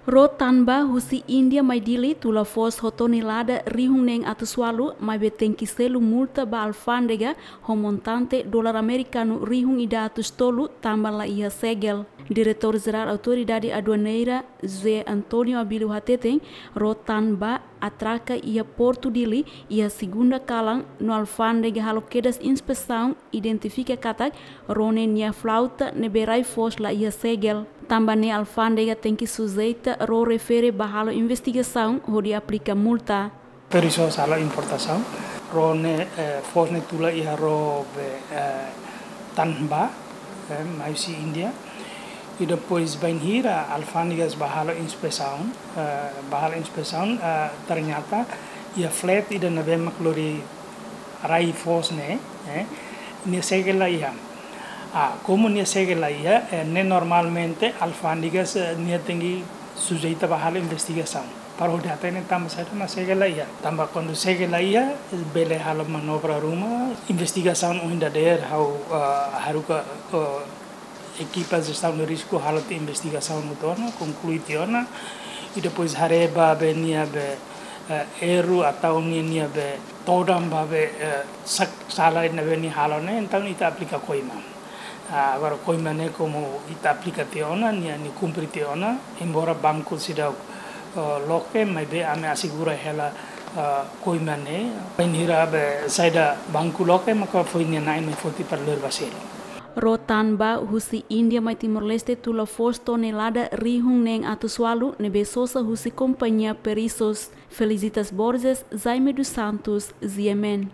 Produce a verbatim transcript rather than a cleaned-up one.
Ró tan ba husi Índia mai Dili tula foos ho tonelada rihun neen atus ualu, maibé tenke selu multa ba alfándega ho montante dolar amerikanu rihun ida atus tolu tanba la iha segel. Diretór Jerál Autoridade Aduaneira, José António Abílio hateten, ró tan ba atraka iha Portu Dili iha segunda kalan no alfándega halo kedas inspesaun, identifika katak ró ne'e nia flauta ne'ebé rai foos la iha segel. Tanba ne'e alfándega tenke sujeita ró refere ba halo investigasaun hodi aplika multa. Perisoz halo importasaun, ró ne'e, eh, foos ne'e tula iha ró be, eh, tan ba, eh, mai husi Índia. I depois bainhira alfándegas ba halo inspesaun, eh, ba halo inspesaun, eh, ternyata iha flat ida ne'ebé mak lori rai foos ne'e, eh, nia segel la iha. Ah, komu nia segel la iha, eh, ne'e normalmente alfándegas, eh, nia tenke sujeita ba halo investigasaun. Para hodi hatene tanba saida mak segel la iha. Tanba kuandu segel la iha, bele halo manobra ruma, investigasaun ohin dadeer ha'u, ah, haruka, ah, ekipa jestaun de risku halo tiha investigasaun hotu ona, konklui tiha ona, i depois haree ba be nia be, eh, erru atau nia, nia be todan ba be, eh, sak-, sala ne'ebé nia halo ne'e, entaun ita aplika koima. Ah, agora koima ne'e komu ita aplika tiha ona, nia, nia kumpre tiha ona, embora banku seidauk, eh, loke, maibé ami asegura hela, eh, koima ne'e. Bainhira be saida banku loke, maka foin nia na'in mai foti para lori ba selu. Ró tan ba husi Índia mai Timor-Leste tula foos tonelada rihun neen atus ualu ne'ebé sosa husi kompañia Perisoz. Felicitas Borges, Jaime dos Santos, G M N.